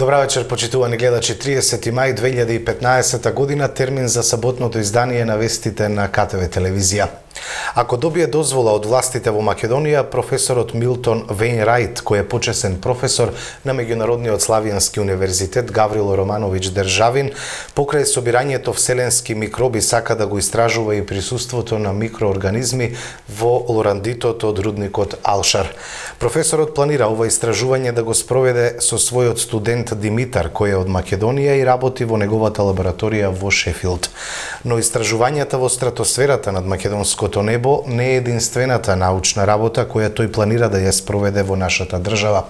Добра вечер, почитувани гледачи. 30 мај 2015 година, термин за саботното издание на вестите на КТВ телевизија. Ако добие дозвола од властите во Македонија, професорот Милтон Вејнрајт, кој е почесен професор на Меѓународниот Славијански универзитет Гаврило Романовиќ Државин, покрај собирањето вселенски микроби сака да го истражува и присуството на микроорганизми во лорандитот од рудникот Алшар. Професорот планира ова истражување да го спроведе со својот студент Димитар, кој е од Македонија и работи во неговата лабораторија во Шефилд. Но истражувањата во стратосферата над македонското небо не е единствената научна работа која тој планира да ја спроведе во нашата држава.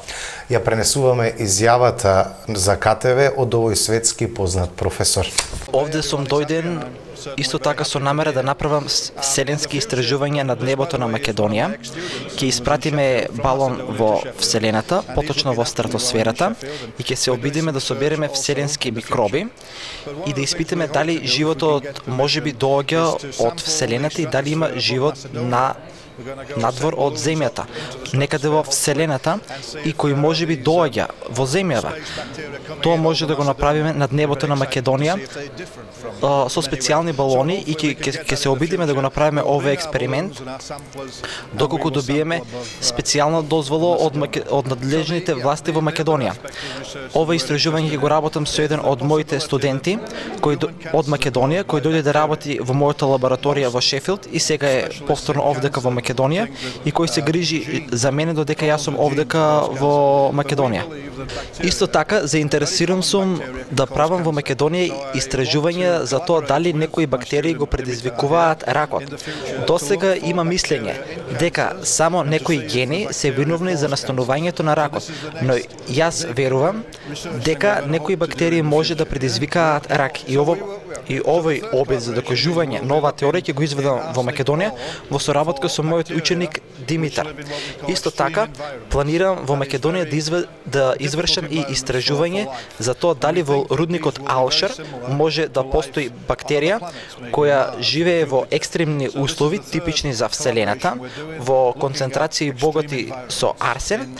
Ја пренесуваме изјавата за КТВ од овој светски познат професор. Овде сум дојден исто така со намера да направам вселенски истражувања над небото на Македонија. Ќе испратиме балон во вселената, поточно во стратосферата, и ќе се обидиме да собереме вселенски микроби и да испитаме дали животот можеби доаѓа од вселената и дали има живот надвор од земјата, некаде во вселената, и кој можеби доаѓа во земјава. Тоа може да го направиме над небото на Македонија со специјални балони и ќе се обидиме да го направиме овој експеримент доколку добиеме специјална дозвола од надлежните власти во Македонија. Ова истражување ќе го работам со еден од моите студенти од Македонија, кој дојде да работи во мојата лабораторија во Шефилд и сега е повторно овдека во Македонија и кој се грижи за мене додека јас сум овдека во Македонија. Исто така, заинтересиран сум да правам во Македонија истражување за тоа дали некои бактерии го предизвикуваат ракот. Досега има мислење дека само некои гени се виновни за настанувањето на ракот, но јас верувам дека некои бактерии може да предизвикаат рак и овој обид за докажување на оваа теорија ќе го изведам во Македонија во соработка со мојот ученик Димитар. Исто така, планирам во Македонија да извршам и истражување за тоа дали во рудникот Алшар може да постои бактерија која живее во екстремни услови типични за вселената, во концентрации богати со арсен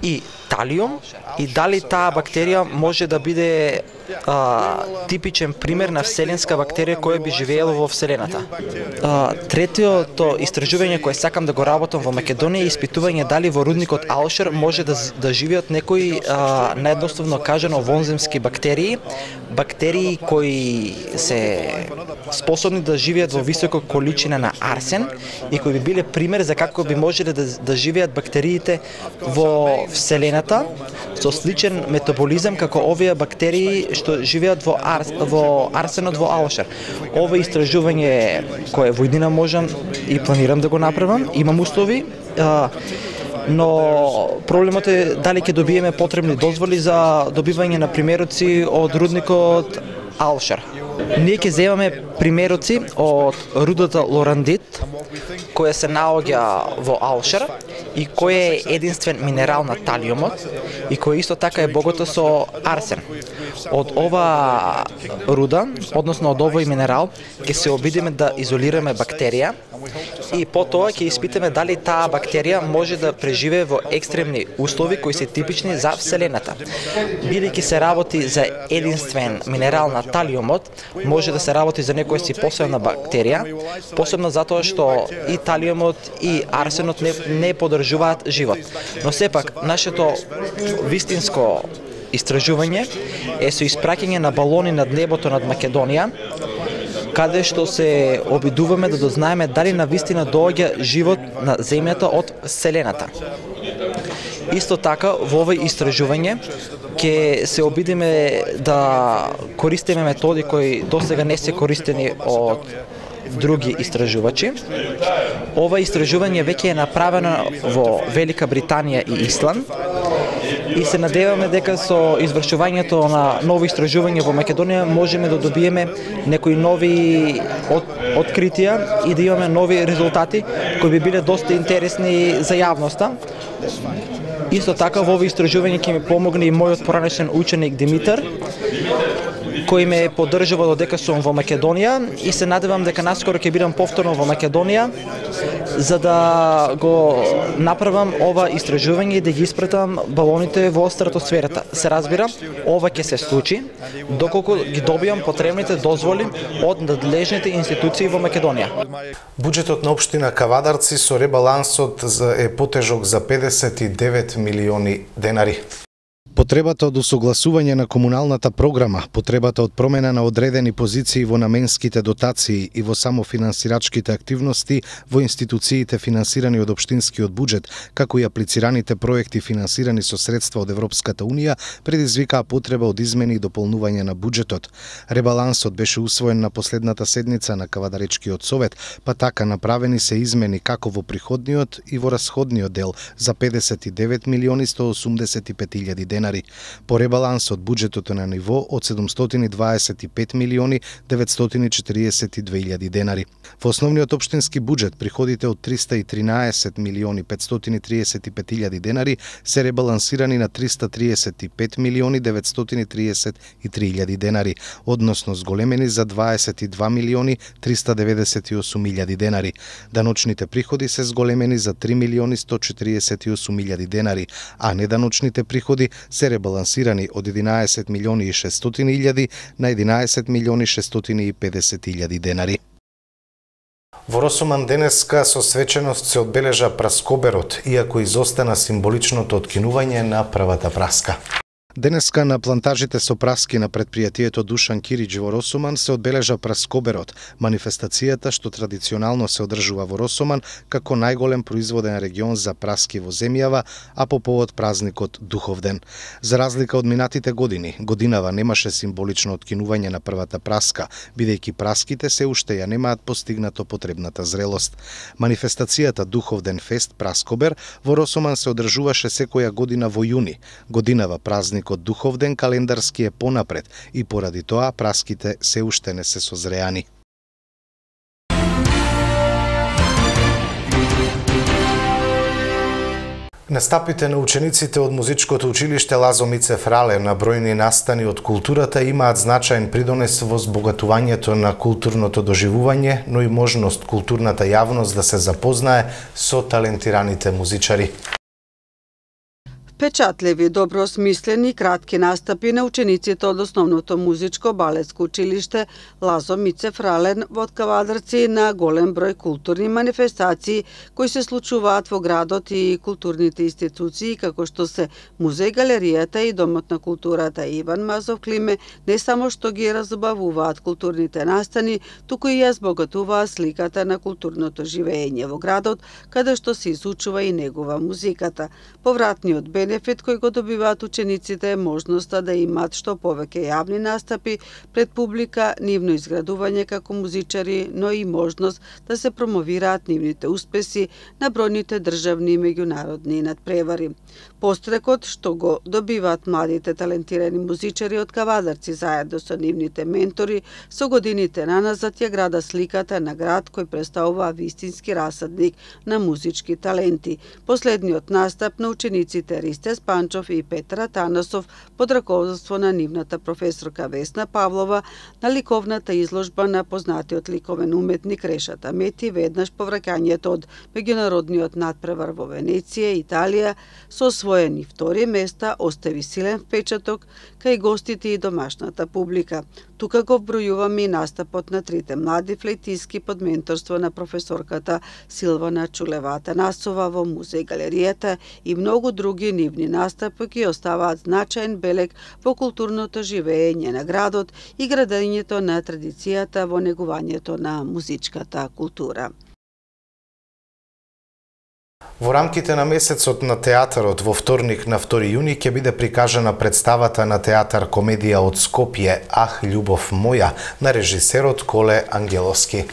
и талиум, и дали таа бактерија може да биде типичен пример на вселенска бактерија која би живеела во вселената. Третиото истражување кое сакам да го работам во Македонија е испитување дали во рудникот Алшар може да живеат некои наедноставно кажано вонземски бактерии кои се способни да живеат во висока количина на арсен и кои би биле пример за како би можеле да живеат бактериите во вселената со сличен метаболизам како овие бактерии што живеат во арсенот во Алшар. Ова истражување кое во иднина можам и планирам да го направам, имам услови, но проблемот е дали ќе добиеме потребни дозволи за добивање на примероци од рудникот Алшар. Ние ќе земаме примероци од рудата Лорандит, која се наоѓа во Алшар и кој е единствен минерал на талиумот и кој исто така е богата со арсен. Од ова руда, односно од овој минерал, ќе се обидиме да изолираме бактерија и потоа ќе испитаме дали таа бактерија може да преживее во екстремни услови кои се типични за вселената. Бидејќи се работи за единствен минерал на талиумот, може да се работи за некоја си посебна бактерија, посебно затоа што и талиумот и арсенот не поддржуваат живот. Но сепак, нашето вистинско истражување е со испраќање на балони над небото над Македонија, каде што се обидуваме да дознаеме дали навистина доаѓа живот на земјата од вселената. Исто така, во овој истражување ќе се обидиме да користиме методи кои досега не се користени од други истражувачи. Ова истражување веќе е направено во Велика Британија и Исланд и се надеваме дека со извршувањето на нови истражувања во Македонија можеме да добиеме некои нови откритија и да имаме нови резултати кои би биле доста интересни за јавноста. Исто така во овој истражување ќе ми помогне и мојот поранешен ученик Димитар кој ме поддржува додека сум во Македонија и се надевам дека наскоро ќе бидам повторно во Македонија за да го направам ова истражување и да ги испратам балоните во стратосферата. Се разбира, ова ќе се случи доколку ги добијам потребните дозволи од надлежните институции во Македонија. Буџетот на општина Кавадарци со ребалансот е потежок за 59 милиони денари. Потребата од усогласување на комуналната програма, потребата од промена на одредени позиции во наменските дотации и во самофинансирачките активности во институциите финансирани од општинскиот буџет, како и аплицираните проекти финансирани со средства од Европската Унија, предизвикаа потреба од измени и дополнување на буџетот. Ребалансот беше усвоен на последната седница на Кавадаречкиот совет, па така направени се измени како во приходниот и во расходниот дел за 59 милиони 185 илјади денари. По ребалансот буџетот е на ниво од 725 милиони 942 илјади денари. Во основниот општински буџет приходите од 313 милиони 535 илјади денари се ребалансирани на 335 милиони 933 илјади денари, односно зголемени за 22 милиони 398 илјади денари. Даночните приходи се зголемени за 3 милиони 148 илјади денари, а неданочните приходи се ребалансирани од 11 милиони и 600 илјади на 11 милиони 650 илјади денари. Во Росоман денеска со свеченост се одбележа праскоберот, иако изостана символичното откинување на првата праска. Денеска на плантажите со праски на предпријатието Душан Киридж во Росоман се одбележа праскоберот, манифестацијата што традиционално се одржува во Росоман како најголем производен регион за праски во земјава, а по повод празникот Духовден. За разлика од минатите години, годинава немаше символично откинување на првата праска, бидејќи праските се уште ја немаат постигнато потребната зрелост. Манифестацијата Духовден фест Праскобер во Росоман се одржуваше секоја година во јуни. Годинава празник од Духовден календарски е понапред и поради тоа праските се уште не се созреани. Настапите на учениците од музичкото училиште Лазо Мицев Рале на бројни настани од културата имаат значаен придонес во збогатувањето на културното доживување, но и можност културната јавност да се запознае со талентираните музичари. Впечатливи, добро смислени, кратки настапи на учениците од основното музичко балетско училиште Лазо Мицев Рален во Кавадарци на голем број културни манифестации кои се случуваат во градот и културните институции како што се музеј, галеријата и домот на културата Иван Мазов Климе не само што ги разубавуваат културните настани, туку и ја збогатуваат сликата на културното живење во градот, каде што се изучува и негува музиката. Повратниот бенефит кој го добиваат учениците е можноста да имаат што повеќе јавни настапи пред публика, нивно изградување како музичари, но и можност да се промовираат нивните успеси на бројните државни и меѓународни надпревари. Пострекот што го добиваат младите талентирани музичари од Кавадарци заедно со нивните ментори, со годините наназад ја града сликата на град кој представува вистински расадник на музички таленти. Последниот настап на учениците Ристе Спанчов и Петар Атанасов под раководство на нивната професорка Весна Павлова на ликовната изложба на познатиот ликовен уметник Решата Мети веднаш по враќањето од меѓународниот надпревар во Венеција, Италија, со освоени втори места, остави силен впечаток кај гостите и домашната публика. Тука го вбројуваме и настапот на трите млади флейтистки под менторство на професорката Силвана Чулева Атанасова во музеј галеријата и многу други нивни настапи кои оставаат значаен белег во културното живење на градот и градењето на традицијата во негувањето на музичката култура. Во рамките на месецот на театарот во вторник на 2 јуни ќе биде прикажана представата на театар комедија од Скопје Ах, љубов моја на режисерот Коле Ангеловски.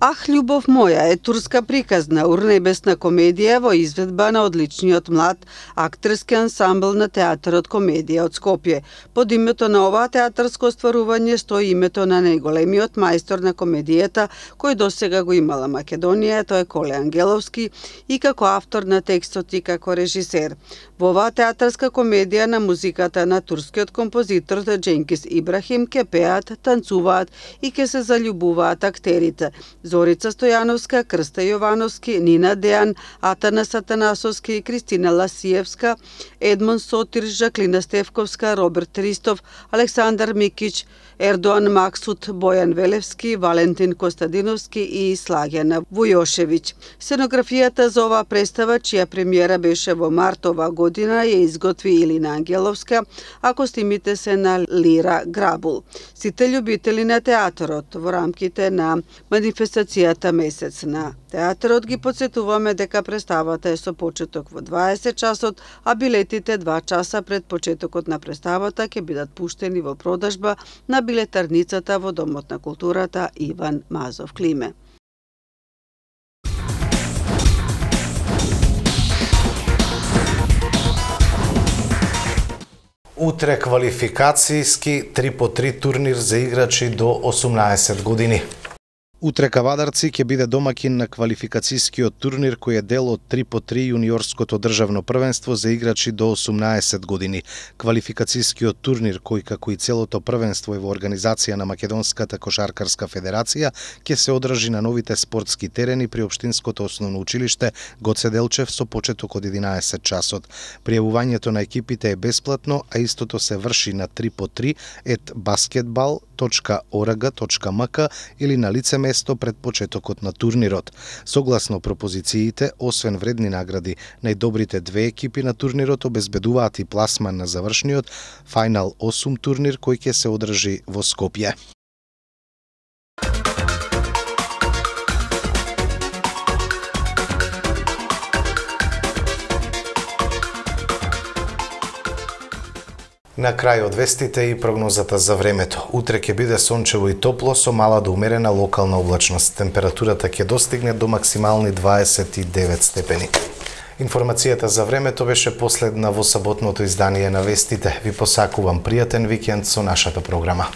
Ах, љубов моја е турска приказна, урнебесна комедија во изведба на одличниот млад актерски ансамбл на театарот Комедија од Скопје. Под името на ова театарско остварување стои името на најголемиот мајстор на комедијата кој досега го имала Македонија, тој е Коле Ангеловски, и како автор на текстот и како режисер. Во оваа театарска комедија на музиката на турскиот композитор Дженгис Ибрахим ке пеат, танцуваат и ке се заљубуваат актерите Зорица Стојановска, Крста Јовановски, Нина Дејан, Атанас Атанасовски, Кристина Ласиевска, Едмон Сотир, Жаклина Стевковска, Роберт Ристов, Александар Микич, Ердоан Максут, Бојан Велевски, Валентин Костадиновски и Слагјана Вујошевиќ. Сценографијата за оваа представа, чија премиера беше во март оваа година, ја изготви Илина Ангеловска, а костимите се на Лира Грабул. Сите љубители на театарот во рамките на манифестацијата Месец на театарот ги потсетуваме дека представата е со почеток во 20 часот, а билетите 2 часа пред почетокот на представата ќе бидат пуштени во продажба на билетарницата во Домот на културата Иван Мазов Климе. Утре квалификацијски 3x3 турнир за играчи до 18 години. Утре Кавадарци ќе биде домакин на квалификацијскиот турнир кој е дел од 3x3 јуниорското државно првенство за играчи до 18 години. Квалификацијскиот турнир кој како и целото првенство е во организација на Македонската кошаркарска федерација ќе се одржи на новите спортски терени при општинското основно училиште Гоце Делчев со почеток од 11 часот. Пријавувањето на екипите е бесплатно, а истото се врши на 3x3@basketball.org.mk или на лице место пред почетокот на турнирот. Согласно пропозициите, освен вредни награди, најдобрите две екипи на турнирот обезбедуваат и пласман на завршниот Final 8 турнир кој ќе се одржи во Скопје. На крај од вестите и прогнозата за времето. Утре ќе биде сончево и топло со мала до умерена локална облачност. Температурата ќе достигне до максимални 29 степени. Информацијата за времето беше последна во саботното издание на вестите. Ви посакувам пријатен викенд со нашата програма.